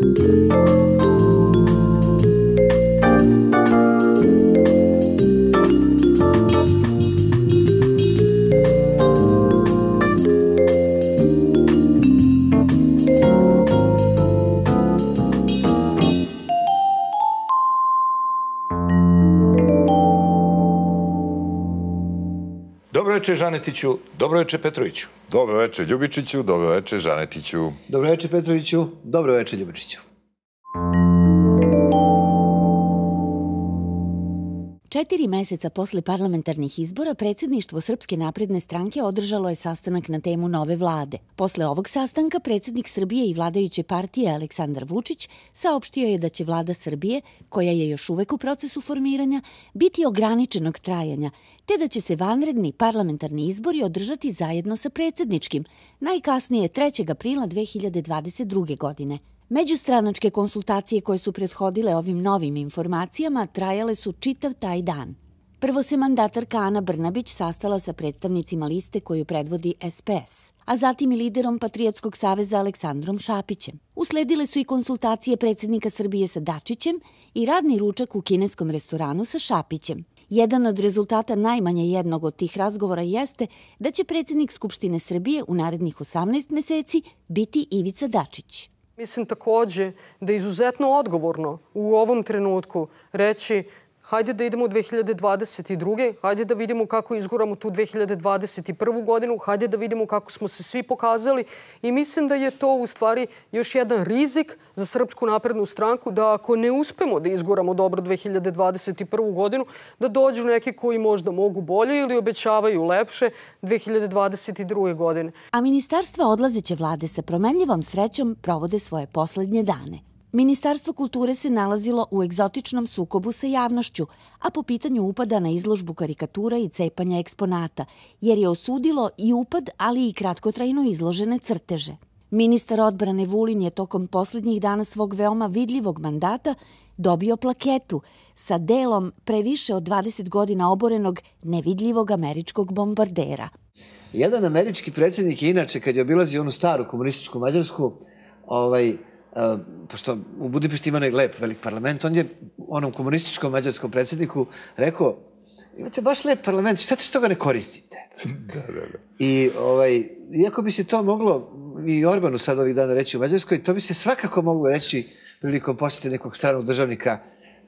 Dobro večer, Žanetiću. Dobro večer, Petroviću. Dobro večer, Ljubičiću. Dobro večer, Žanetiću. Dobro večer, Petroviću. Dobro večer, Ljubičiću. 4 meseca posle parlamentarnih izbora, predsjedništvo Srpske napredne stranke održalo je sastanak na temu nove vlade. Posle ovog sastanka, predsjednik Srbije i vladajuće partije Aleksandar Vučić saopštio je da će vlada Srbije, koja je još uvek u procesu formiranja, biti ograničenog trajanja, te da će se vanredni parlamentarni izbori održati zajedno sa predsjedničkim, najkasnije 3. aprila 2022. godine. Međustranačke konsultacije koje su prethodile ovim novim informacijama trajale su čitav taj dan. Prvo se mandatarka Ana Brnabić sastala sa predstavnicima liste koju predvodi SPS, a zatim i liderom Patriotskog saveza Aleksandrom Šapićem. Usledile su i konsultacije predsjednika Srbije sa Dačićem i radni ručak u kineskom restoranu sa Šapićem. Jedan od rezultata najmanje jednog od tih razgovora jeste da će predsjednik Skupštine Srbije u narednih 18 meseci biti Ivica Dačić. Mislim takođe da je izuzetno odgovorno u ovom trenutku reći hajde da idemo u 2022. Hajde da vidimo kako izguramo tu 2021. godinu. Hajde da vidimo kako smo se svi pokazali. I mislim da je to u stvari još jedan rizik za Srpsku naprednu stranku da ako ne uspemo da izguramo dobro 2021. godinu, da dođu neki koji možda mogu bolje ili obećavaju lepše 2022. godine. A ministarstva odlazeće vlade sa promenljivom srećom provode svoje poslednje dane. Ministarstvo kulture se nalazilo u egzotičnom sukobu sa javnošću, a po pitanju upada na izložbu karikatura i cepanja eksponata, jer je osudilo i upad, ali i kratkotrajno izložene crteže. Ministar odbrane Vulin je tokom posljednjih dana svog veoma vidljivog mandata dobio plaketu sa delom pre više od 20 godina oborenog nevidljivog američkog bombardera. Jedan američki predsjednik je inače, kad je obilazio onu staru komunističku Mađarsku, pošto u Budimpešti ima onaj lep velik parlament, on je onom komunističkom mađarskom predsjedniku rekao, imate baš lep parlament, šta te što ga ne koristite? I iako bi se to moglo i Orbanu sad ovih dana reći u Mađarskoj, to bi se svakako moglo reći prilikom posjete nekog stranog državnika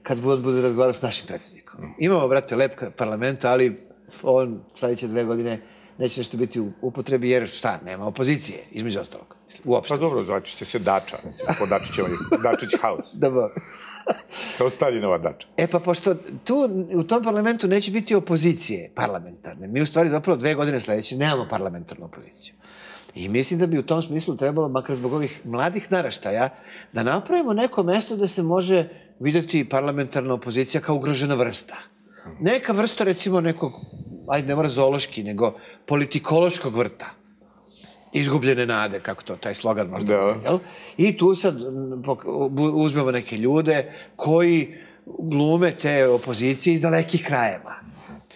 kad bude razgovarao s našim predsjednikom. Imamo, brate, lep parlament, ali on sljedeće 2 godine neće nešto biti u upotrebi, jer šta, nema opozicije, između ostalog. Pa dobro, zvaćete se Dača. Po Dačić House. Dobro. Kao Staljinova Dača. Pa pošto tu, u tom parlamentu neće biti opozicije parlamentarne, mi u stvari zapravo 2 godine sljedeće nemamo parlamentarnu opoziciju. I mislim da bi u tom smislu trebalo, makar zbog ovih mladih naraštaja, da napravimo neko mesto da se može vidjeti parlamentarna opozicija kao ugrožena vrsta. Neka vrsta, recimo, nekog, ajde, ne mora zoološki, nego politikološkog vrta. Izgubljene nade, kako to, taj slogan možda bude, jel? I tu sad uzmemo neke ljude koji glume te opozicije iz dalekih krajeva.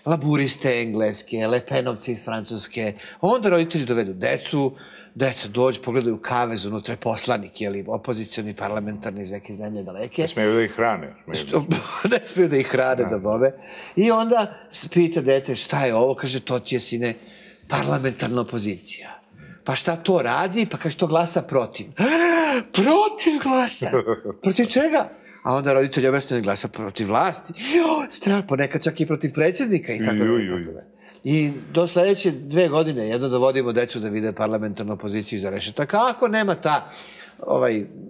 Laburiste engleske, lepenovci iz Francuske. Onda roditelji dovedu decu, deca dođu, pogledaju kavez, unutra je poslanik, jel, opozicioni, parlamentarni iz neke zemlje daleke. Ne smiju da ih hrane. Ne smiju da ih hrane, da bobe. I onda pita dete šta je ovo, kaže, to ti je, sine, parlamentarna opozicija. Pa šta to radi? Pa kaže, to glasa protiv. Protiv glasa? Protiv čega? A onda roditelj objasnio da glasa protiv vlasti. Strah, ponekad čak i protiv predsjednika i tako da. I do sljedeće 2 godine jedno dovodimo decu da vide parlamentarnu opoziciju iza rešetaka. Ako nema ta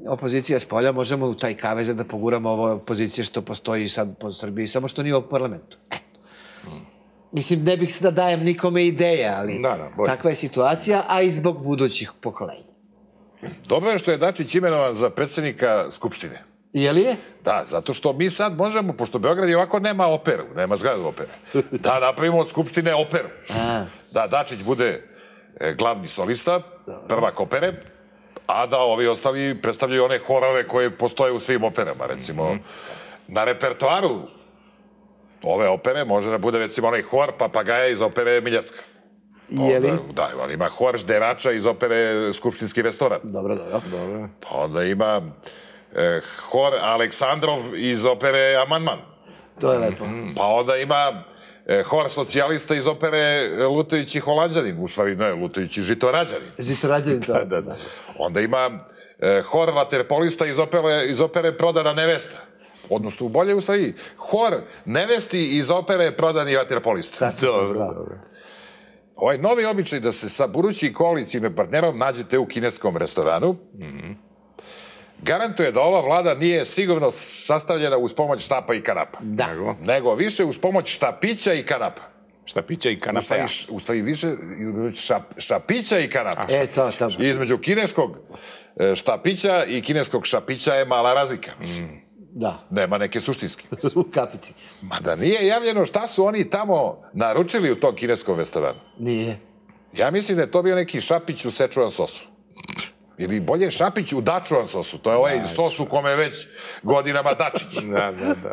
opozicija s polja, možemo u taj kavez da poguramo ovo opozicije što postoji sad po Srbiji, samo što nije u parlamentu. Mislim, ne bih se da dajem nikome ideje, ali takva je situacija, a i zbog budućih pokolenja. Dobro je što je Dačić imenovan za predsjednika Skupštine. Je li je? Da, zato što mi sad možemo, pošto Beograd i ovako nema operu, nema zgradu opere, da napravimo od Skupštine operu. Da Dačić bude glavni solista, prvak opere, a da ovi ostali predstavljaju one horove koje postoje u svim operama, recimo. Na repertoaru ove opere može da bude, recimo, onaj hor Papagaja iz opere Miljacka. Je li? Da, on ima hor Žderača iz opere Skupštinski restoran. Dobro. Pa onda ima hor Aleksandrov iz opere Amandman. To je lepo. Pa onda ima hor socijalista iz opere Lutajući Holanđanin, u stvari ne, Lutajući Žitorađanin. Žitorađanin, to. Da. Onda ima hor vaterpolista iz opere Prodana nevesta. Odnosno, bolje u stvari, hor nevesti iz opere Prodani vaterpolista. Dobro. Ovaj novi običaj da se sa budućim koalicijnim partnerom nađete u kineskom restoranu, garantuje da ova vlada nije sigurno sastavljena uz pomoć štapa i kanapa. Da. Nego više uz pomoć štapića i kanapa. Štapića i kanapa. U stvari više štapića i kanapa. To. Između kineskog štapića i kineskog šapića je mala razlika. Da. Nema neke suštinske. U kapici. Mada nije javljeno šta su oni tamo naručili u tom kineskom restoranu. Nije. Ja mislim da je to bio neki šapić u Szechuan sosu. Ili bolje šapić u Dačuan sosu. To je ovaj sos u kome već godinama Dačić.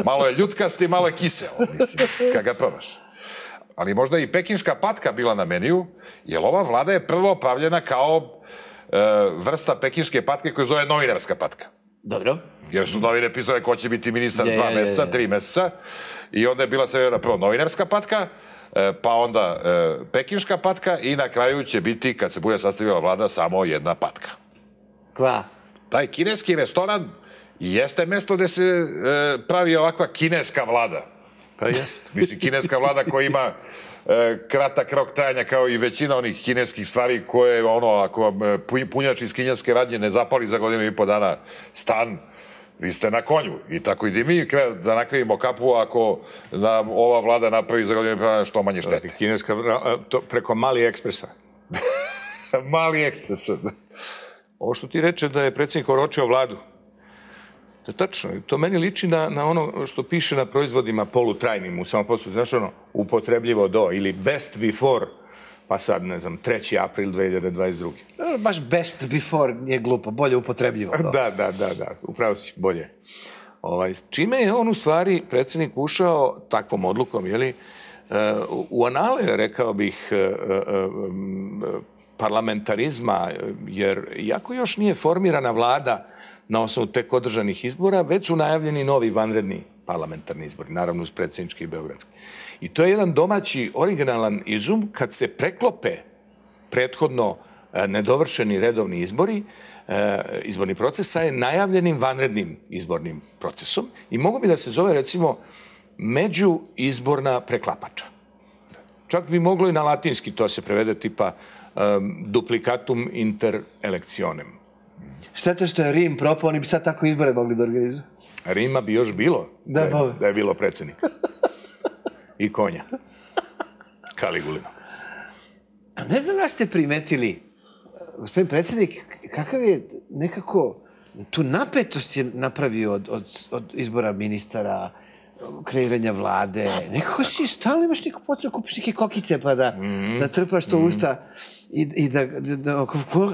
Malo je ljutkasti, malo je kiseo, mislim, kad ga probaš. Ali možda i pekinška patka bila na meniju, jer ova vlada je prvo pravljena kao vrsta pekinške patke koja zove novinarska patka. Dobro. Jer su novine pisale ko će biti ministar 2 meseca, 3 meseca. I onda je bila servirana prvo novinarska patka, pa onda pekinška patka i na kraju će biti, kad se bude sastavila vlada, samo jedna patka. Kva? Taj kineski restoran jeste mesto gde se pravi ovakva kineska vlada. Pa jeste. Mislim, kineska vlada koja ima kratak rok trajanja kao i većina onih kineskih stvari koje, ako vam punjač iz kineske radnje ne zapali za 1,5 dana stan, vi ste na konju. I tako i mi da nakrivimo kapu ako nam ova vlada napravi za 1,5 dana što manje štete. Kineska, preko Mali ekspresa. Mali ekspres. Ovo što ti reče da je predsjednik oročio vladu, to je tačno. To meni liči na ono što piše na proizvodima polutrajnim u samoposlu. Znaš ono, upotrebljivo do ili best before, pa sad, ne znam, 3. april 2022. Baš best before nije glupo, bolje upotrebljivo. Da, upravo si, bolje. Čime je on u stvari, predsjednik, ušao takvom odlukom, jeli, u anale, rekao bih, parlamentarizma, jer iako još nije formirana vlada na osnovu tek održanih izbora, već su najavljeni novi vanredni parlamentarni izbori, naravno uz predsjednički i beogradski. I to je jedan domaći originalan izum kad se preklope prethodno nedovršeni redovni izbori, izborni proces sa najavljenim vanrednim izbornim procesom i mogu bi da se zove, recimo, međuizborna preklapača. Čak bi moglo i na latinski to se prevede tipa duplicatum inter electionem. Šteta što je Rim propao, oni bi sad tako izbore mogli da organizuju. Rima bi još bilo da je bilo predsjednika. I konja. Kaligulina. Ne znam da ste primetili, gospodin predsjednik, kakav je nekako, tu napetost je napravio od izbora ministara, kreiranja vlade. Nekako si stalno imaš neku potrebu, kupiš neke kokice pa da trpaš to usta i da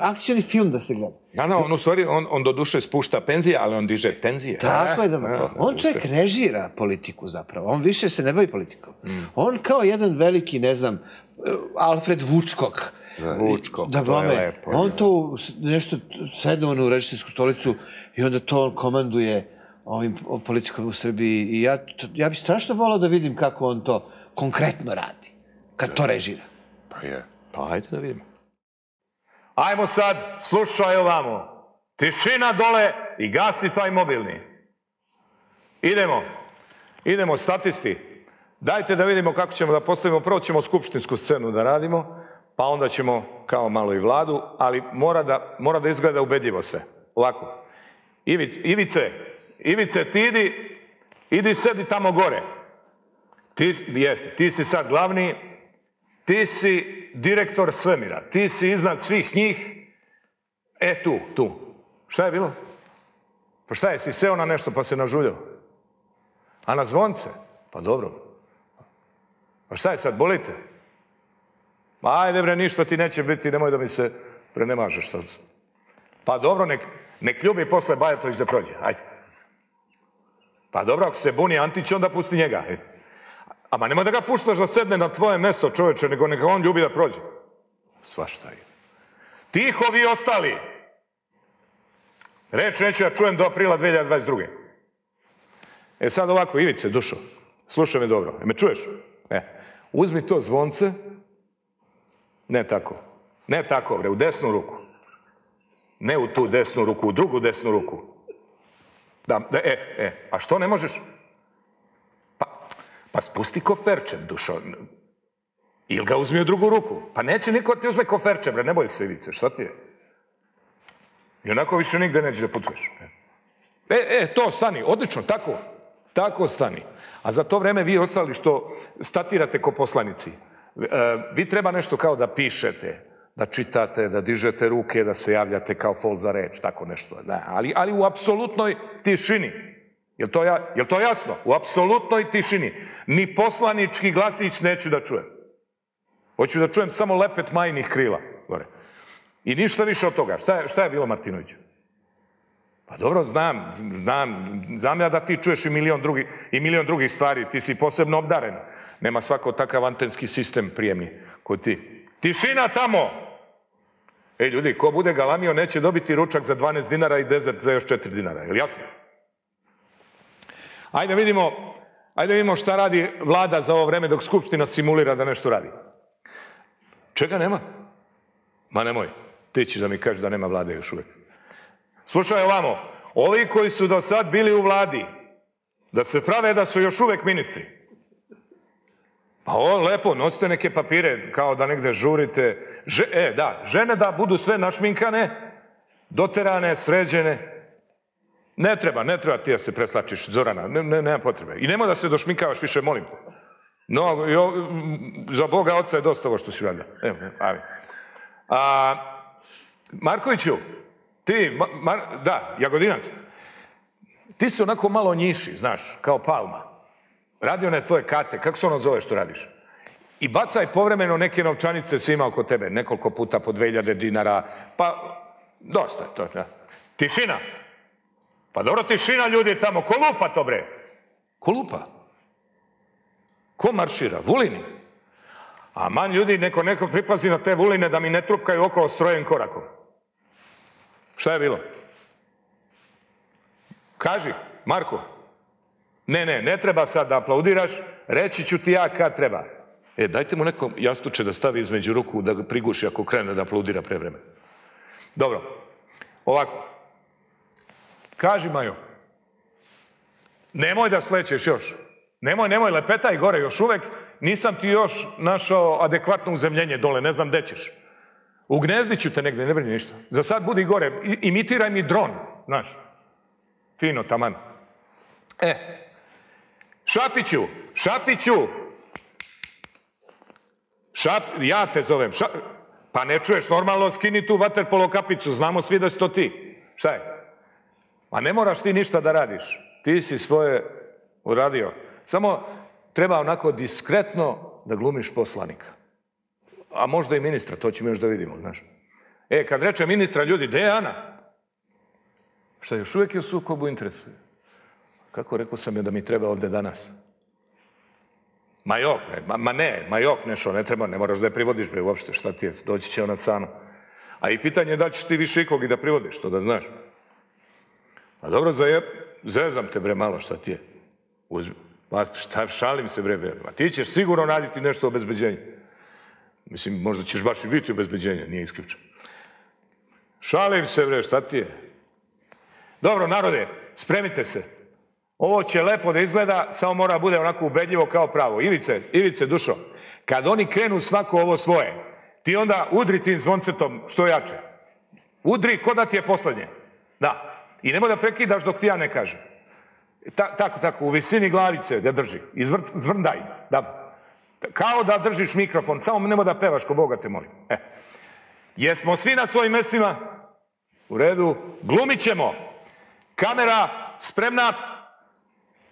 akcioni film da se gleda. Da, on u stvari, on do duše spušta penzije, ali on diže tenzije. Tako je da, on čovjek režira politiku zapravo. On više se ne bavi politikom. On kao jedan veliki, ne znam, Alfred Vučkog. To je lepo. On to nešto sedne u režisersku stolicu i onda to on komanduje ovim politikom u Srbiji i ja bih strašno volao da vidim kako on to konkretno radi, kad to režira. Pa je. Pa hajde da vidimo. Ajmo sad, slušaj ovamo. Tišina dole i gasi taj mobilni. Idemo, statisti. Dajte da vidimo kako ćemo da postavimo. Prvo ćemo skupštinsku scenu da radimo, pa onda ćemo kao malo i vladu, ali mora da izgleda ubedljivo sve. Ovako. Ivice, ti idi sedi tamo gore. Ti si sad glavni, ti si direktor svemira, ti si iznad svih njih. Tu. Šta je bilo? Pa šta je, si seo na nešto pa se nažuljao? A na zvonce? Pa dobro. Pa šta je sad, bolite? Ajde bre, ništa ti neće biti, nemoj da mi se prenemažeš sad. Pa dobro, nek ljubi posle Bajatović da prođe, ajde. Pa dobro, ako se buni Antić, onda pusti njega. Ama nemoj da ga puštaš da sedne na tvoje mesto, čoveče, nego neka on ljubi da prođe. Svašta je. Tiho vi ostali! Reč neću ja čujem do aprila 2022. E sad ovako, Ivice, dušo, slušaj me dobro. Me čuješ? Uzmi to zvonce. Ne tako. Ne tako, bre, u desnu ruku. Ne u tu desnu ruku, u drugu desnu ruku. A što ne možeš? Pa spusti koferče, dušo. Ili ga uzmi u drugu ruku. Pa neće niko ti uzme koferče, bre, ne boj se, Ivice, šta ti je? I onako više nigde neće da putuješ. To, stani, odlično, tako stani. A za to vreme vi ostali što statirate ko poslanici, vi treba nešto kao da pišete, da čitate, da dižete ruke, da se javljate kao fol za reč, tako nešto. Ali u apsolutnoj tišini. Je li to jasno? U apsolutnoj tišini. Ni poslanički glasić neću da čujem. Hoću da čujem samo lepet majnih krila. I ništa više od toga. Šta je bilo, Martinoviću? Pa dobro, znam ja da ti čuješ i milion drugih stvari. Ti si posebno obdaren. Nema svako takav antenski sistem prijemni kod ti. Tišina tamo! Ljudi, ko bude galamio neće dobiti ručak za 12 dinara i dezert za još 4 dinara. Je li jasno? Ajde vidimo šta radi vlada za ovo vreme dok Skupština simulira da nešto radi. Čega nema? Ma nemoj. Ti ćeš da mi kažeš da nema vlade još uvek. Slušaj ovamo. Ovi koji su do sad bili u vladi, da se prave da su još uvek ministri. Pa ovo lepo, nosite neke papire kao da negde žurite. Žene da budu sve našminkane, doterane, sređene. Ne treba ti da se preslačiš, Zorana, nema potrebe. I nemoj da se došminkavaš više, molim te. Za Boga oca je dosta ovo što si radila. Markoviću, ti, Jagodinac, ti si onako malo njiši, znaš, kao Palma. Radi one tvoje kate, kako se ono zove što radiš? I bacaj povremeno neke novčanice svima oko tebe, nekoliko puta po 2000 dinara, pa dosta je to. Tišina. Pa dobro, tišina, ljudi tamo, ko lupa to, bre? Ko lupa? Ko maršira? Vulini? Aman, ljudi, neko pripazi na te vuline da mi ne trupkaju okolo strojem korakom. Šta je bilo? Kaži, Marko. Ne treba sad da aplaudiraš, reći ću ti ja kad treba. Dajte mu neko jastuče da stavi između ruku, da ga priguši ako krene da aplaudira pre vremena. Dobro, ovako. Kaži, Majo, nemoj da slećeš još. Nemoj, lepetaj gore još uvek. Nisam ti još našao adekvatno uzemljenje dole, ne znam gde ćeš. U gnezdiću te negde, ne brini ništa. Za sad budi gore, imitiraj mi dron, znaš. Fino, taman. Šapiću! Ja te zovem. Pa ne čuješ, normalno skini tu vaterpolo kapicu, znamo svi da si to ti. Šta je? Ma ne moraš ti ništa da radiš. Ti si svoje uradio. Samo treba onako diskretno da glumiš poslanika. A možda i ministra, to ćemo još da vidimo, znaš. Kad reče ministra, ljudi, gde je Ana? Šta, još uvek je u sukobu interesu? Kako rekao sam je da mi treba ovde danas? Majok, nešto, ne treba, ne moraš da je privodiš, bre, uopšte, šta ti je, doći će ona sama. A i pitanje je da ćeš ti više ikog i da privodiš, to da znaš. A dobro, zezam te, bre, malo, šta ti je? Šalim se, bre, a ti ćeš sigurno raditi nešto o obezbeđenju. Mislim, možda ćeš baš i biti obezbeđenje, nije isključeno. Šalim se, bre, šta ti je? Dobro, narode, spremite se. Ovo će lepo da izgleda, samo mora bude onako ubedljivo kao pravo. Ivice, dušo, kad oni krenu svako ovo svoje, ti onda udri tim zvoncetom što jače. Udri ko da ti je poslednje. Da. I nemoj da prekidaš dok ti ja ne kažem. Tako, u visini glavice da drži. I zvrndaj. Kao da držiš mikrofon, samo nemoj da pevaš, ko Boga te molim. Jesmo svi na svojim mestima? U redu. Glumit ćemo. Kamera spremna.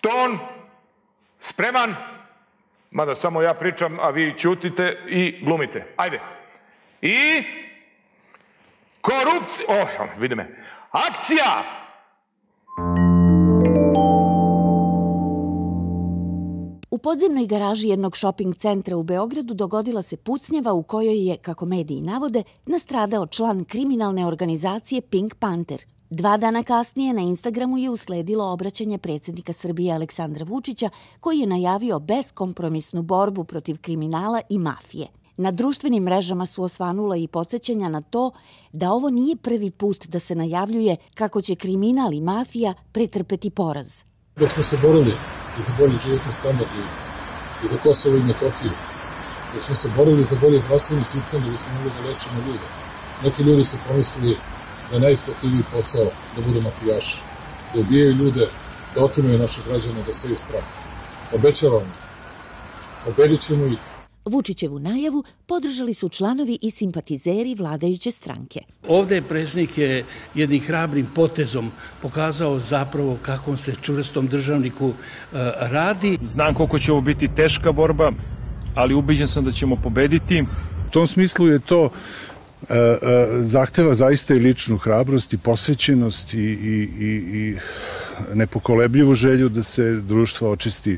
Ton spreman. Mada samo ja pričam, a vi ćutite i glumite. Ajde. I korupcija. Vidi me. Akcija! U podzemnoj garaži jednog šoping centra u Beogradu dogodila se pucnjava u kojoj je, kako mediji navode, nastradao član kriminalne organizacije Pink Panther. 2 dana kasnije na Instagramu je usledilo obraćanje predsjednika Srbije Aleksandra Vučića, koji je najavio beskompromisnu borbu protiv kriminala i mafije. Na društvenim mrežama su osvanula i podsjećanja na to da ovo nije prvi put da se najavljuje kako će kriminal i mafija pretrpeti poraz. Dok smo se borili i za bolji životni standard i za Kosovo i Metohiju, dok smo se borili za bolji zdravstveni sistem da bismo mogli da lečimo ljude, neki ljudi su pomislili da je najisplativiji posao da budu mafijaši, da ubijaju ljude, da otimaju naše građane, da seju strah. Obećavam, pobedit ćemo ih. Vučićevu najavu podržali su članovi i simpatizeri vladajuće stranke. Ovde je predsjednik jednim hrabrim potezom pokazao zapravo kakvom se čvrstom državniku radi. Znam koliko će ovo biti teška borba, ali ubeđen sam da ćemo pobediti. U tom smislu je to zahteva zaista i ličnu hrabrost i posvećenost i nepokolebljivu želju da se društvo očisti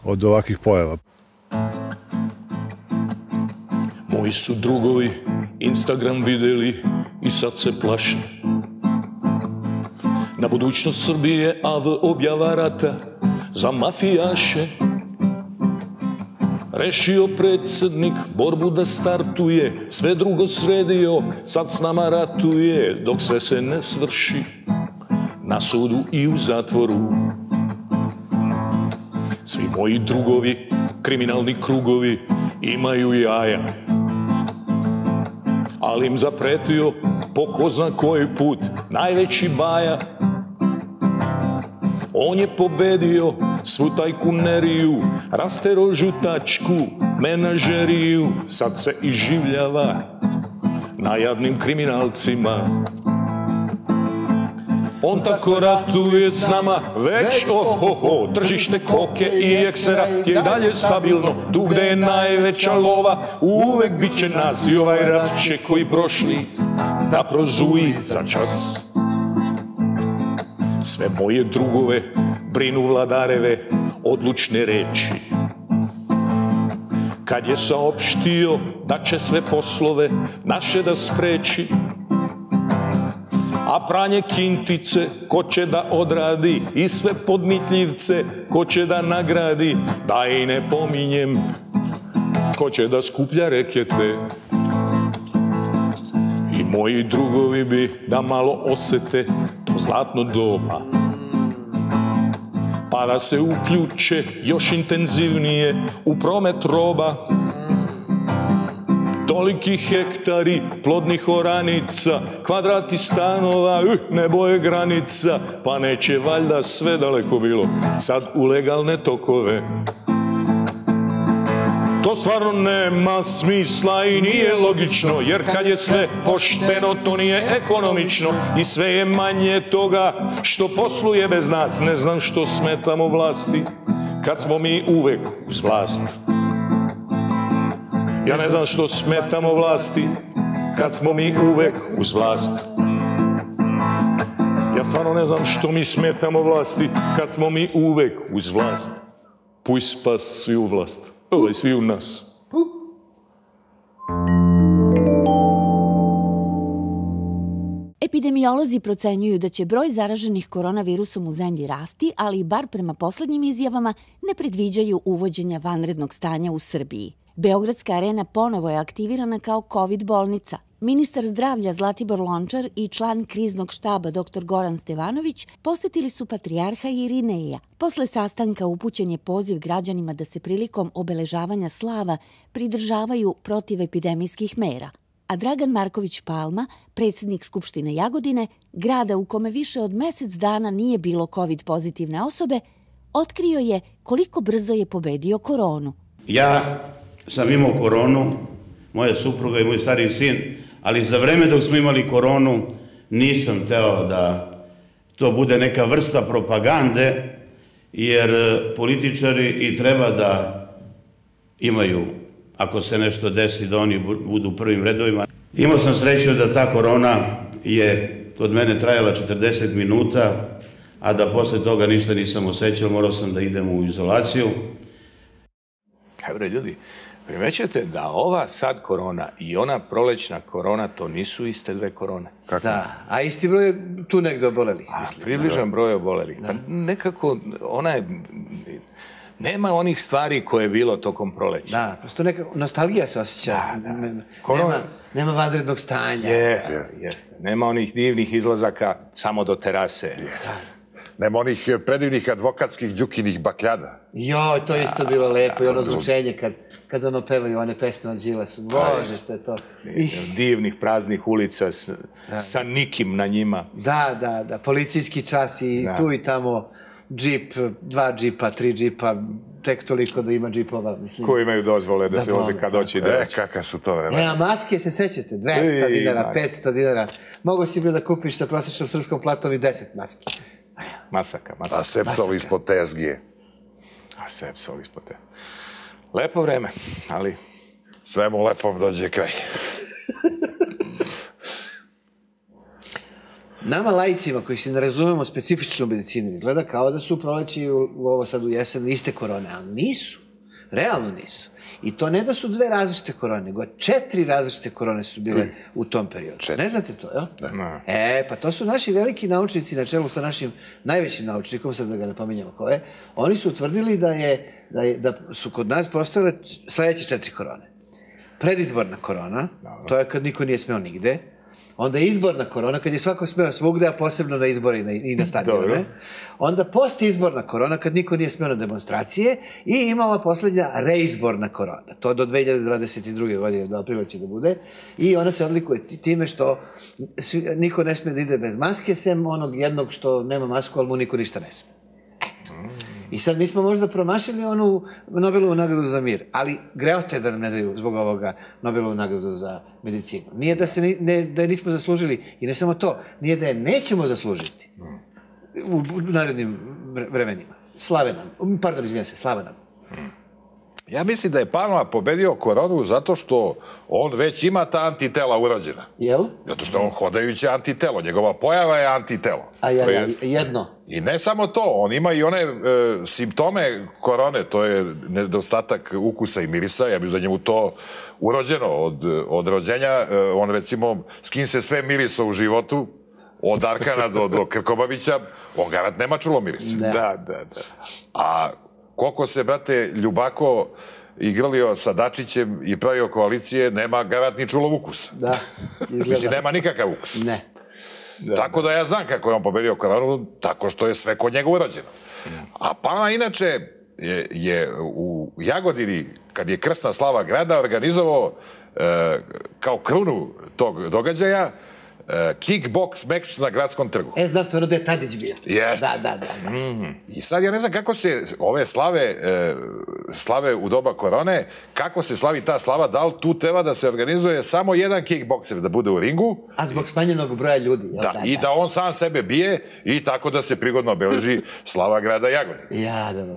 od ovakvih pojava. Moji su drugovi Instagram videli i sad se plaše. Na budućnost Srbije AV objava rata za mafijaše. Rešio predsjednik borbu da startuje, sve drugo sredio, sad s nama ratuje, dok sve se ne svrši, na sudu i u zatvoru. Svi moji drugovi, kriminalni krugovi, imaju jaja, ali im zapretio po ko zna koji put najveći baja. On je pobedio svu tajkuneriju, rastero žutačku menažeriju, sad se iživljava na jadnim kriminalcima. On tako ratuje s nama već ohoho, tržište koke i eksera je dalje stabilno, tu gde je najveća lova uvek bit će nas i ovaj rat će koji prošli da prozuji za čas. Sve moje drugove brinu vladareve odlučne reči. Kad je saopštio da će sve poslove naše da spreči, a pranje kintice ko će da odradi i sve podmitljivce ko će da nagradi, da i ne pominjem ko će da skuplja rekete. I moji drugovi bi da malo osete to zlatno doba, pa da se uključe još intenzivnije u promet roba. Toliki hektari plodnih oranica, kvadrati stanova, nebo je granica, pa neće valjda sve daleko bilo sad u legalne tokove. To stvarno nema smisla i nije logično, jer kad je sve pošteno, to nije ekonomično i sve je manje toga što posluje bez nas. Ne znam što smetamo vlasti, kad smo mi uvek uz vlast. Ja ne znam što smetamo vlasti, kad smo mi uvek uz vlast. Ja stvarno ne znam što mi smetamo vlasti, kad smo mi uvek uz vlast. Puj spas svi u vlast, svi u nas. Epidemiolozi procenjuju da će broj zaraženih koronavirusom u zemlji rasti, ali bar prema poslednjim izjavama ne predviđaju uvođenja vanrednog stanja u Srbiji. Beogradska arena ponovo je aktivirana kao COVID bolnica. Ministar zdravlja Zlatibor Lončar i član kriznog štaba dr. Goran Stevanović posetili su patrijarha Irineja. Posle sastanka upućen je poziv građanima da se prilikom obeležavanja slava pridržavaju protivepidemijskih mera. A Dragan Marković Palma, predsjednik Skupštine Jagodine, grada u kome više od mesec dana nije bilo COVID pozitivne osobe, otkrio je koliko brzo je pobedio koronu. Ja sam imao koronu, moja supruga i moj stariji sin, ali za vreme dok smo imali koronu nisam hteo da to bude neka vrsta propagande, jer političari i treba da imaju, ako se nešto desi, da oni budu u prvim redovima. Imao sam sreću da ta korona je kod mene trajala 40 minuta, a da posle toga ništa nisam osjećao, morao sam da idem u izolaciju. Kaj bre, ljudi, Primećujete da ova sad korona i ona prolećna korona, to nisu iste dve korone. Da, a isti broj je tu negde obolelih. Približan broj obolelih. Pa nekako, ona je... Nema onih stvari koje je bilo tokom proleća. Da, prosto neka nostalgija se osjeća. Nema vanrednog stanja. Jeste. Nema onih divnih izlazaka samo do terase. Nema onih predivnih advokatskih Đukinih bakljada. Joj, to je isto bilo lepo i ono zvučenje kad ono pevaju one pesme od Đilasu. Bože, što je to. Divnih praznih ulica sa nikim na njima. Da, policijski čas i tu i tamo džip, 2 džipa, 3 džipa, tek toliko da ima džipova, mislim. Koji imaju dozvole da se voze kad doći. Kakav su to vremena. Nema maske, se sećate, 200 dinara, 500 dinara. Mogu si bilo da kupiš sa prosječnom srpskom platom i 10 maski. Masaka. A sepsol ispod tezgije. Lepo vreme, ali... Svemu lepom dođe kraj. Nama laicima koji se ne razumemo specifičnu medicinu izgleda kao da su proleći u ovo sad u jesen iste korone, ali nisu. Realno nisu. I to ne da su 2 različite korone, nego 4 različite korone su bile u tom periodu. Ne znate to, jel? Pa to su naši veliki naučnici na čelu sa našim najvećim naučnikom, sad da ga napominjamo ko je, oni su utvrdili da su kod nas postojale sledeće 4 korone. Predizborna korona, to je kad niko nije smeo nigde. Onda je izborna korona, kad je svako smeo svugde, a posebno na izbore i na stadione. Onda postizborna korona, kad niko nije smeo na demonstracije. I ima ova poslednja reizborna korona. To do 2022. godine, do aprila će da bude. I ona se odlikuje time što niko ne sme da ide bez maske, sem onog jednog što nema masku, ali mu niko ništa ne sme. I sad mi smo možda promašili onu Nobelovu nagradu za mir, ali greote da nam ne daju zbog ovoga Nobelovu nagradu za medicinu. Nije da je nismo zaslužili, i ne samo to, nije da je nećemo zaslužiti u narednim vremenima. Slava nam. Ja mislim da je Palma pobedio koronu zato što on već ima ta antitela urođena. Jel? Zato što on hodajuće antitelo. Njegova pojava je antitelo. A jedno? I ne samo to, on ima i one simptome korone, to je nedostatak ukusa i mirisa, ja bih da njemu to urođeno od rođenja. On recimo, s kim se sve mirisa u životu, od Arkana do Krkobabića, on garant nema čulo mirisa. Da. A koliko se, brate, Ljubako igralio sa Dačićem i pravio koalicije, nema garant ni čulov ukusa. Da, izgleda. Mislim, nema nikakav ukus. Ne. Tako da ja znam kako je on pobedio koronu, tako što je sve kod njega urođeno. A Palma inače je u Jagodini, kad je krsna slava grada, organizovao kao krunu tog događaja kickbox meč na Gradskom trgu. Znam, to je ono da je Tadić bio. Jeste. Da. I sad ja ne znam kako se ove slave u doba korone, kako se slavi ta slava, da li tu treba da se organizuje samo jedan kickbokser da bude u ringu. A zbog smanjenog broja ljudi. Da, i da on sam sebe bije i tako da se prigodno obeleži slava grada Jagodine. Da.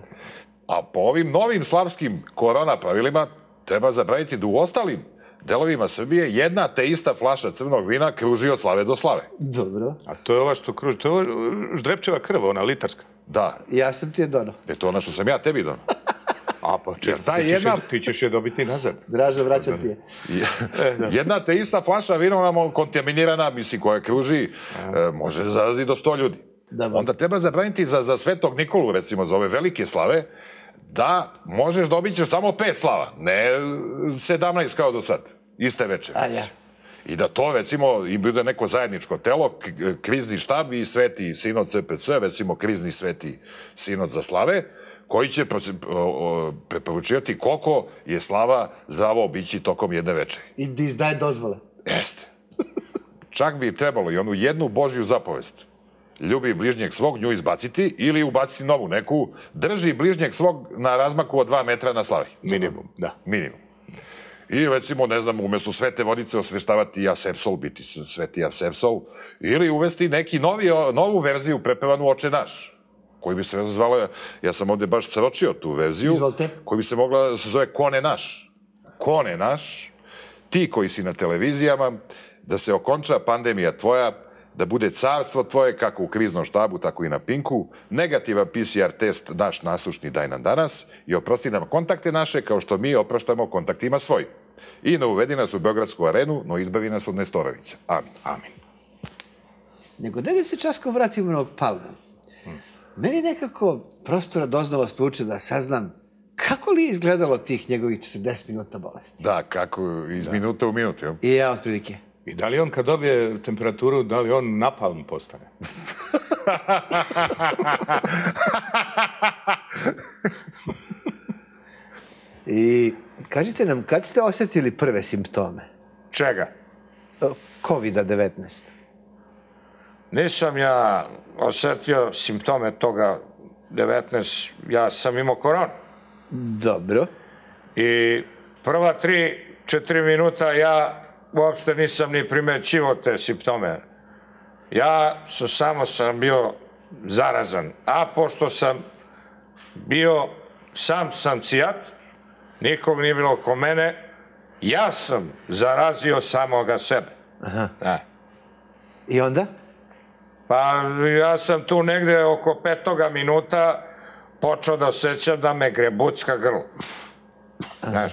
A po ovim novim slavskim korona pravilima treba zabraniti da u ostalim delovima Srbije jedna te ista flaša crnog vina kruži od slave do slave. Dobro. A to je ova što kruži, to je Ždrepčeva krv, ona litarska. Da. Ja sam ti je donao. To ono što sam ja tebi donao. A pa ti ćeš je dobiti nazad. Draža, vraćam ti je. Jedna te ista flaša vina, ona kontaminirana, mislim, koja kruži, može zarazi do 100 ljudi. Onda treba zabraniti za Svetog Nikolu, recimo, za ove velike slave, da možeš dobiti samo 5 slava, ne 17 kao do sad, iste večer. I da to, recimo, im bude neko zajedničko telo, krizni štab i sveti sinod CPC, recimo krizni sveti sinod za slave, koji će preporučivati koliko je slava zdravo obići tokom jedne večeri. I da izdaje dozvole. Jeste. Čak bi trebalo i onu jednu Božju zapovest. Ljubi bližnjeg svog, nju izbaciti ili ubaciti novu neku, drži bližnjeg svog na razmaku od 2 metra na slavi. Minimum, da. Minimum. I recimo, ne znam, umjesto svete vodice osveštavati Asepsol, biti sveti Asepsol, ili uvesti neki novu verziju prepevanu Oče naš, koji bi se zvala, ja sam ovde baš sročio tu verziju, koji bi se mogla da se zove Kone naš. Kone naš, ti koji si na televizijama, da se okonča pandemija tvoja, da bude carstvo tvoje, kako u kriznom štabu, tako i na Pinku, negativan PCR test naš nasušni daj nam danas i oprosti nam kontakte naše kao što mi opraštamo kontaktima svojim. I ne uvedi nas u Beogradsku arenu, no izbavi nas od Nestorovića. Amin. Amin. Nego da se časko vratimo na Palmu. Meni nekako prostora doznalost vuče da saznam kako li je izgledalo tih njegovih 40 minuta bolesti. Da, kako iz minuta u minutu. Jo? I ja, otprilike. I da li on kad dobije temperaturu, da li on napalm postane? I kažite nam, kad ste osjetili prve simptome? Čega? COVID-19. Nisam ja osjetio simptome toga 19, ja sam imao koronu. Dobro. I prva 3-4 minuta ja uopšte nisam ni primećivao te simptome. Ja samo sam bio zarazan. A pošto sam bio sam cijat, nikog nije bilo oko mene, ja sam zarazio samoga sebe. Aha. Da. I onda? Pa ja sam tu negde oko 5. minuta počeo da osjećam da me grebucka grlo. Znaš,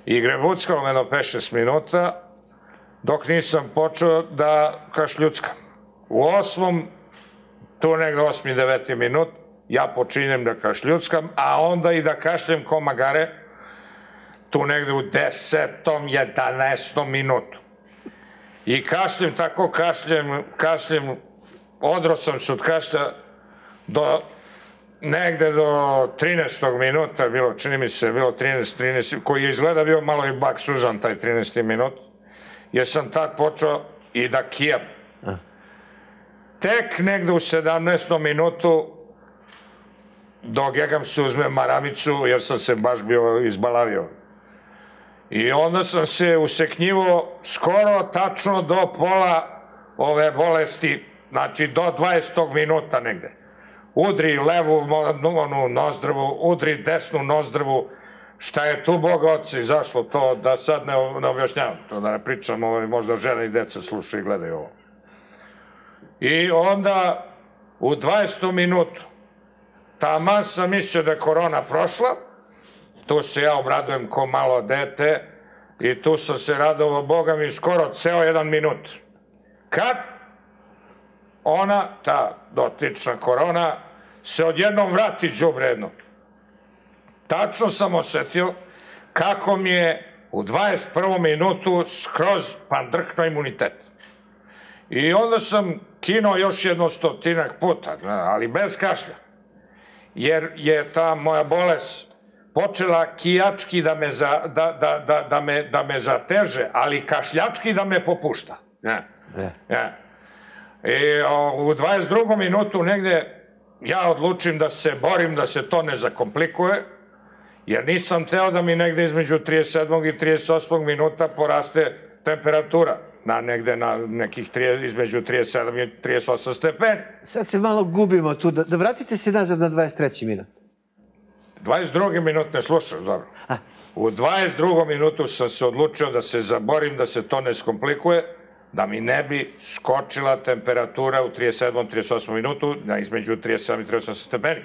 i grebuckalo me do 5-6 minuta dok nisam počeo da kašljuckam. U 8. tu negde 8-9 minut ja počinjem da kašljuckam, a onda i da kašljem ko magare tu negde u 10. 11. minutu. I kašljem tako, kašljem, odro sam se od kašlja negde do 13. minuta, bilo, čini mi se, bilo 13, koji je izgleda bio malo i bak suzan taj 13. minut, jer sam tad počeo i da kijam. Tek negde u 17. minutu dogegam se, uzmem maramicu, jer sam se baš bio izbalavio. I onda sam se useknjivo skoro tačno do pola ove bolesti, znači do 20. minuta negde. Udri levu nozdrvu, udri desnu nozdrvu. Šta je tu, Boga oci, zašlo to, da sad ne objašnjavam, to da ne pričam, možda žene i deca slušaju i gledaju ovo. I onda u 20. minutu taman sam mislio da je korona prošla, tu se ja obradujem ko malo dete i tu sam se radovao, Boga mi, skoro ceo 1 minut. Kad ona, ta dotična korona, se odjednom vrati đubre jedno. Tačno sam osjetio kako mi je u 21. minutu skroz pandrkno imunitet. I onda sam kinuo još 100 puta, ali bez kašlja. Jer je ta moja bolest počela kijački da me zateže, ali kašljački da me popušta. I u 22. minutu negde ja odlučim da se borim da se to ne zakomplikuje, jer nisam teo da mi negde između 37. i 38. minuta poraste temperatura na negde na nekih između 37 i 38 stepeni. Sad se malo gubimo tu, da vratite se nazad na 23. minut. 22. minut ne slušaš, dobro. U 22. minutu sam se odlučio da se zaborim, da se to ne skomplikuje, da mi ne bi skočila temperatura u 37. 38. minutu na između 37 i 38 stepeni.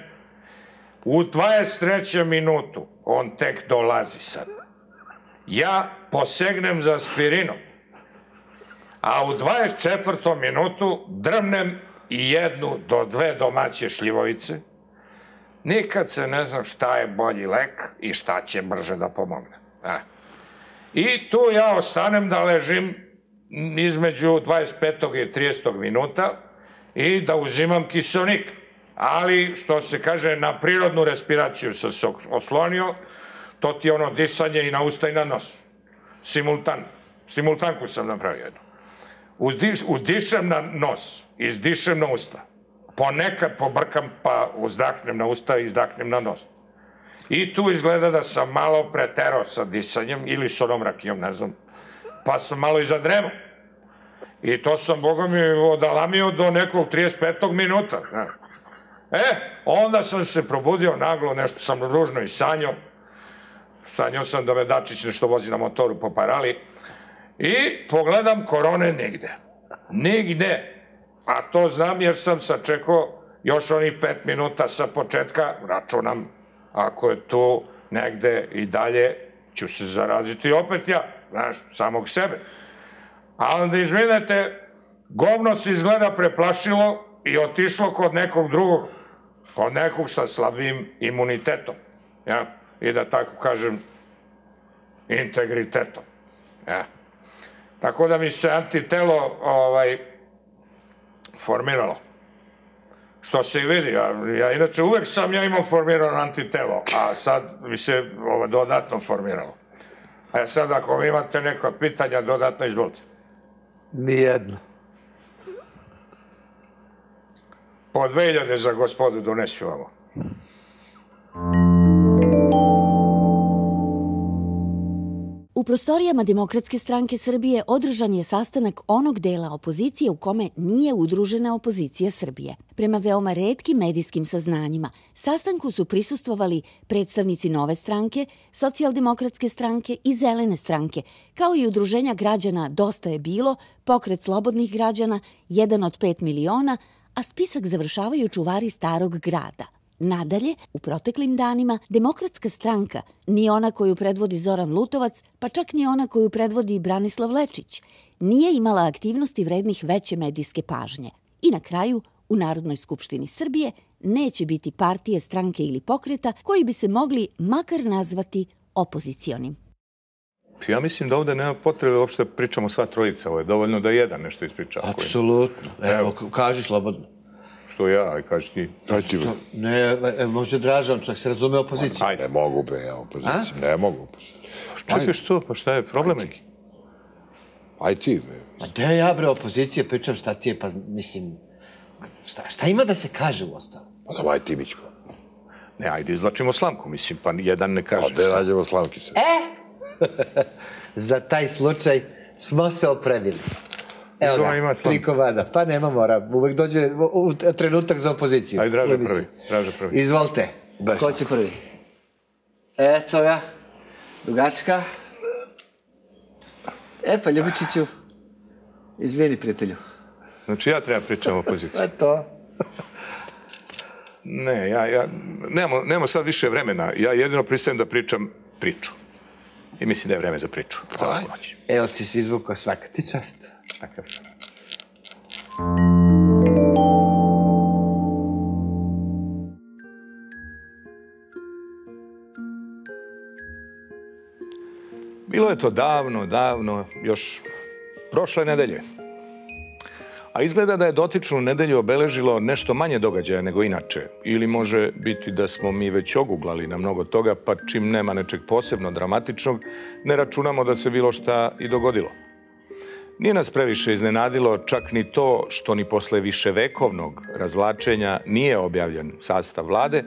U 23. minutu on tek dolazi sad. Ja posegnem za aspirinom, a u 24. minutu drmnem i 1 do 2 domaće šljivovice. Nikad se ne znam šta je bolji lek i šta će brže da pomogne. I tu ja ostanem da ležim između 25. i 30. minuta i da uzimam kiseonik. Ali, što se kaže, na prirodnu respiraciju sam se oslonio, to ti je ono disanje i na usta i na nos. Simultanku sam napravio jednu. Udišem na nos, izdišem na usta. Ponekad pobrkam pa uzdahnem na usta i izdahnem na nos. I tu izgleda da sam malo preterao sa disanjem ili s onom rakijom, ne znam, pa sam malo i zadremao. I to sam, Boga mi, odalamio do nekog 35. minuta. Onda sam se probudio naglo, nešto sam ružno i sanjao. Sanjao sam da me Dačić nešto vozi na motoru po parali. I pogledam, korone nigde. Nigde. A to znam jer sam sačekao još onih 5 minuta sa početka, računam, ako je tu negde i dalje, ću se zaraziti opet ja, znaš, samog sebe. A onda, izvinete, govno se izgleda preplašilo i otišlo kod nekog drugog, kod nekog sa slabim imunitetom, ja, i da tako kažem, integritetom, ja. Tako da mi se antitelo formiralo. Što se i vidi, ja inače uvek sam ja imao formirano antitelo, a sad mi se dodatno formiralo. A sad ako vi imate neka pitanja, dodatno izvolite. Nijedno. Po 2000 za gospodu donesu ovo. U prostorijama Demokratske stranke Srbije održan je sastanak onog dela opozicije u kome nije udružena opozicija Srbije. Prema veoma retkim medijskim saznanjima, sastanku su prisustvovali predstavnici Nove stranke, Socijaldemokratske stranke i Zelene stranke, kao i udruženja građana Dosta je bilo, Pokret slobodnih građana, 1 od 5 miliona, a spisak završavaju čuvari Starog grada. Nadalje, u proteklim danima, Demokratska stranka, ni ona koju predvodi Zoran Lutovac, pa čak ni ona koju predvodi Branislav Lečić, nije imala aktivnosti vrednih veće medijske pažnje. I na kraju, u Narodnoj skupštini Srbije neće biti partije, stranke ili pokreta koji bi se mogli makar nazvati opozicionim. Ja mislim da ovde nema potrebe uopšte pričamo sva trojica, ovo je dovoljno da jedan nešto ispriča. Apsolutno. Evo, kaži slobodno. Što ja, aj kaži ti. Ne, može Dražan, čak se razume opoziciju. Ajde, ne mogu be, ja opoziciju. Ne mogu opoziciju. Čekaj što, pa šta je problem neki? Aj ti, be. Ma gde ja, bre, opozicije, pričam šta ti je, pa mislim... Šta ima da se kaže u ostalo? Pa davaj ti, Mićko. Ne, ajde, izlačimo slamku, mislim, pa jedan ne kaže. Pa gde nađemo slamki se? Za taj slučaj smo se opremili. Evo ga, 3 komada. Pa nema mora, uvek dođe trenutak za opoziciju. Ajde, Draža prvi. Izvolite, ko će prvi? Eto ga, dugačka. Pa Ljubičiću, izvini prijatelju. Znači ja treba pričam o opoziciji. Pa to. Ne, nemamo sad više vremena. Ja jedino pristajem da pričam priču. I mislim da je vreme za priču. Evo si se izvukao, svaka ti čast. Takav sam. Bilo je to davno, još prošle nedelje. A izgleda da je dotičnu nedelju obeležilo nešto manje događaja nego inače. Ili može biti da smo mi već oguglali na mnogo toga, pa čim nema nečeg posebno dramatičnog, ne računamo da se bilo šta i dogodilo. Nije nas previše iznenadilo čak ni to što ni posle viševekovnog razvlačenja nije objavljen sastav vlade,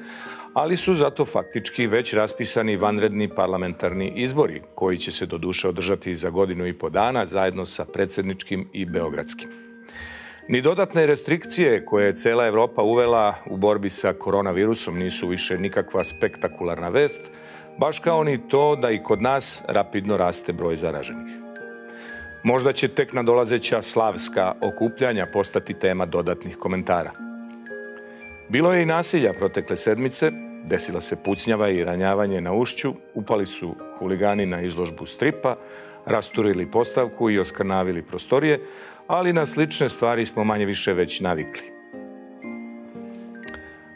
ali su zato faktički već raspisani vanredni parlamentarni izbori, koji će se doduše održati za 1,5 godina zajedno sa predsjedničkim i beogradskim. Ni dodatne restrikcije koje je cela Evropa uvela u borbi sa koronavirusom nisu više nikakva spektakularna vest, baš kao ni to da i kod nas rapidno raste broj zaraženih. Možda će tek nadolazeća slavska okupljanja postati tema dodatnih komentara. Bilo je i nasilja protekle sedmice, desila se pucnjava i ranjavanje na Ušću, upali su huligani na izložbu stripa, rasturili postavku i oskrnavili prostorije, ali na slične stvari smo manje više već navikli.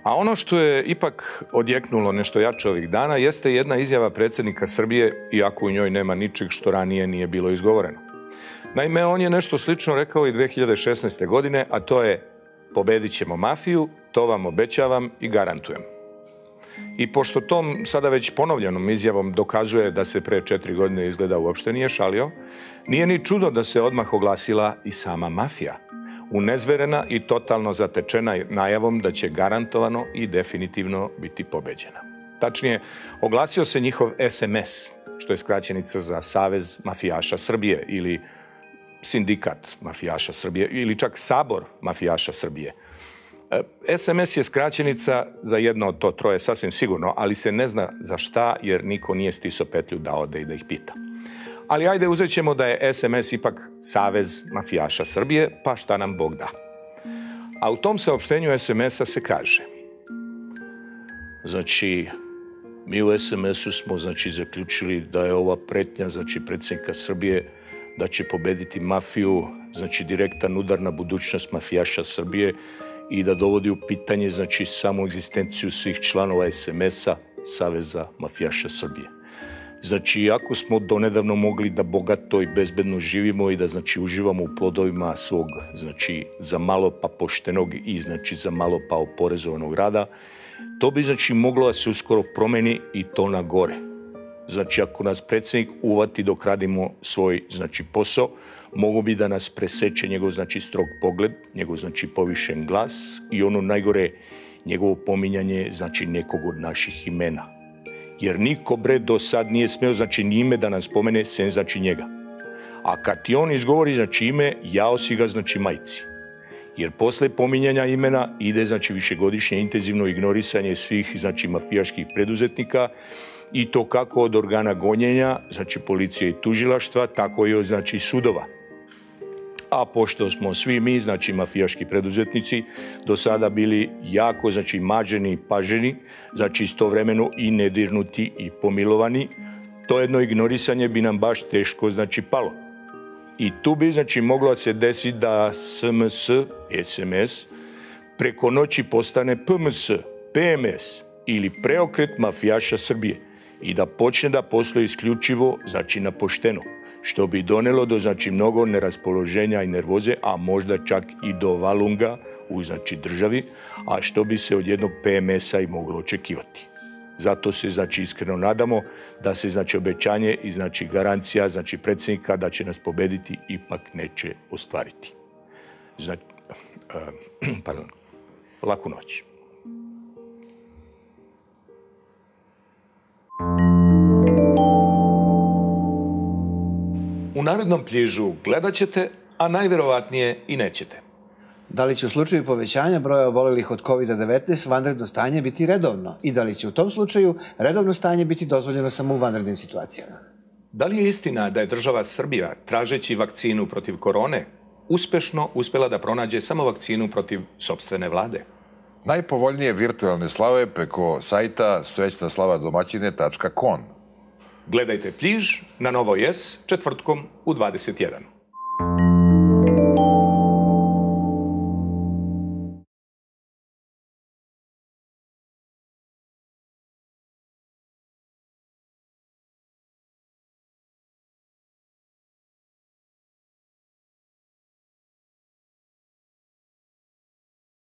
A ono što je ipak odjeknulo nešto jače ovih dana jeste jedna izjava predsjednika Srbije, iako u njoj nema ničeg što ranije nije bilo izgovoreno. Naime, on je nešto slično rekao i 2016. godine, a to je: pobedit ćemo mafiju, to vam obećavam i garantujem. I pošto tom sada već ponovljenom izjavom dokazuje da se pre 4 godine izgleda uopšte nije šalio, nije ni čudo da se odmah oglasila i sama mafija, unezverena i totalno zatečena najavom da će garantovano i definitivno biti pobeđena. Tačnije, oglasio se njihov SMS, što je skraćenica za Savez mafijaša Srbije ili Sindikat mafijaša Srbije ili čak Sabor mafijaša Srbije. SMS je skraćenica za jedno od to troje sasvim sigurno, ali se ne zna za šta jer niko nije stisao petlju da ode i da ih pita. Ali ajde, uzet ćemo da je SMS ipak Savez mafijaša Srbije, pa šta nam Bog da. A u tom saopštenju SMS-a se kaže, znači, mi u SMS-u smo, znači, zaključili da je ova pretnja, znači, predsjednika Srbije, da će pobediti mafiju, znači, direktan udar na budućnost mafijaša Srbije i da dovodi u pitanje, znači, samu egzistenciju svih članova SMS-a Saveza mafijaša Srbije. Znači, ako smo donedavno mogli da bogato i bezbedno živimo i da, znači, uživamo u plodovima svog, znači, za malo pa poštenog i, znači, za malo pa oporezovanog rada, to bi, znači, moglo da se uskoro promeni i to na gore. Znači, ako nas predsjednik uvati dok radimo svoj, znači, posao, mogu bi da nas preseče njegov, znači, strog pogled, njegov, znači, povišen glas i ono najgore, njegovo pominjanje, znači, nekog od naših imena. Jer niko, bre, do sad nije smeo, znači, ime da nas spomene, sem, znači, njega. A kad ti on izgovori, znači, ime, jao si ga, znači, majci. Jer posle pominjanja imena ide, znači, višegodišnje intenzivno ignorisanje svih, znači, mafijaških preduzetnika i to kako od organa gonjenja, znači, policije i tužilaštva, tako i od, znači, sudova. A pošto smo svi mi, znači, mafijaški preduzetnici, do sada bili jako, znači, mađeni i paženi, znači, istovremeno i nedirnuti i pomilovani, to jedno ignorisanje bi nam baš teško, znači, palo. I tu bi, znači, moglo se desiti da SMS preko noći postane PMS, PMS ili preokret mafijaša Srbije i da počne da posluje isključivo, znači, na pošteno, što bi donelo do, znači, mnogo neraspoloženja i nervoze, a možda čak i do valunga u, znači, državi, a što bi se od jednog PMS-a i moglo očekivati. Zato se, znači, iskreno nadamo da se, znači, obećanje i, znači, garancija, znači, predsjednika da će nas pobediti ipak neće ostvariti. Znači, laku noć. U narednom Pljižu gledat ćete, a najverovatnije i nećete. Da li će u slučaju povećanja broja obolelih od COVID-19 vanredno stanje biti redovno i da li će u tom slučaju redovno stanje biti dozvoljeno samo u vanrednim situacijama? Da li je istina da je država Srbija, tražeći vakcinu protiv korone, uspešno uspela da pronađe samo vakcinu protiv sopstvene vlade? Najpovoljnije virtualne slave preko sajta svećnaslavadomaćine.com. Gledajte Pljiž na Novoj S četvrtkom u 21.